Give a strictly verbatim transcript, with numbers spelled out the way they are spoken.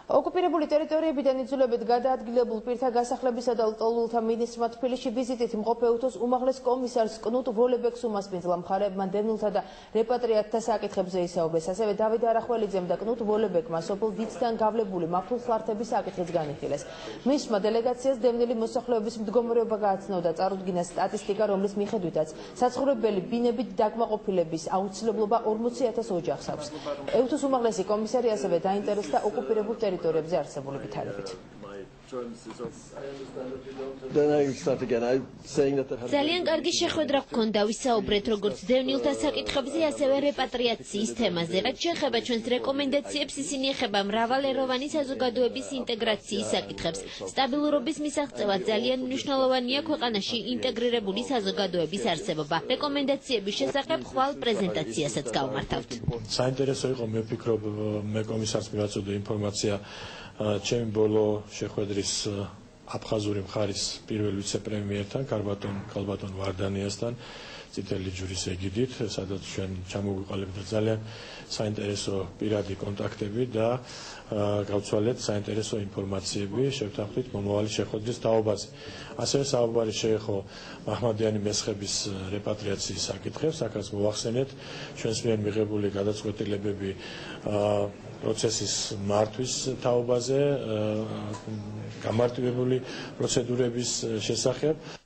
ოკუპირებული ტერიტორიებიდან იძულებით გადაადგილებულ პირთა გასახლებისა და ლტოლვილთა მინისტრმა თბილისში ვიზიტით იმყოფ ეუთოს უმაღლეს კომისარს კნუტ ვოლებეკს უმასპინძლა მხარეებმა დევნილთა და რეპატრიატთა საკითხებზე ისაუბრეს. ასევე დავით არახველიძემ და კნუტ ვოლებეკმა სოფელ დიციდან გავლებული მართულხლართების საკითხიც განიხილეს. მისმა დელეგაციას დევნილი მოსახლეობის მდგომარეობა გააცნო და წარუდგინა სტატისტიკა, რომლის მიხედვითაც საცხოვრებელი ბინებით დაკმაყოფილების აუცილებლობა ორმოცი ათას ოჯახს აქვს. ეუთოს უმაღლესი კომისარი ასევე დაინტერესდა ოკუპირებულ ტერიტორიებზე არსებული ვითარებით. ძალიან კარგი შეხვედრა გქონდა, ვისაუბრეთ როგორც დევნილთა საკითხებზე, ასევე რეპატრიაციის თემაზე. რაც შეეხება ჩვენს რეკომენდაციებს, ისინი ეხება მრავალეროვანი საზოგადოების ინტეგრაციის საკითხებს. სტაბილურობის მისაღწევად ძალიან მნიშვნელოვანია ქვეყანაში ინტეგრირებული საზოგადოების არსებობა. რეკომენდაციების შესახებ ხვალ პრეზენტაციასაც გავმართავთ. საინტერესო იყო, მე ვფიქრობ, მე კომისარს მივაწოდე ინფორმაცია ჩემი ბოლო შეხვედრის აფხაზური მხარის პირველ ვიცე-პრემიერთან, ქალბატონ ვარდანიასთან, წითელი ჯვრის ეგიდით, სადაც ჩვენ ჩამოვიყალიბდა ძალიან საინტერესო პირადი კონტაქტები და გავცვალეთ საინტერესო ინფორმაციები, შევთანხმდით მომავალი შეხვედრის თაობაზე. ასევე საუბარი შეეხო მაჰმადიანი მესხების რეპატრიაციის საკითხებს, აქაც მოვახსენეთ ჩვენს მიერ მიღებული გადაწყვეტილებები პროცესის მართვის თაობაზე, გამარტივებული პროცედურების შესახებ.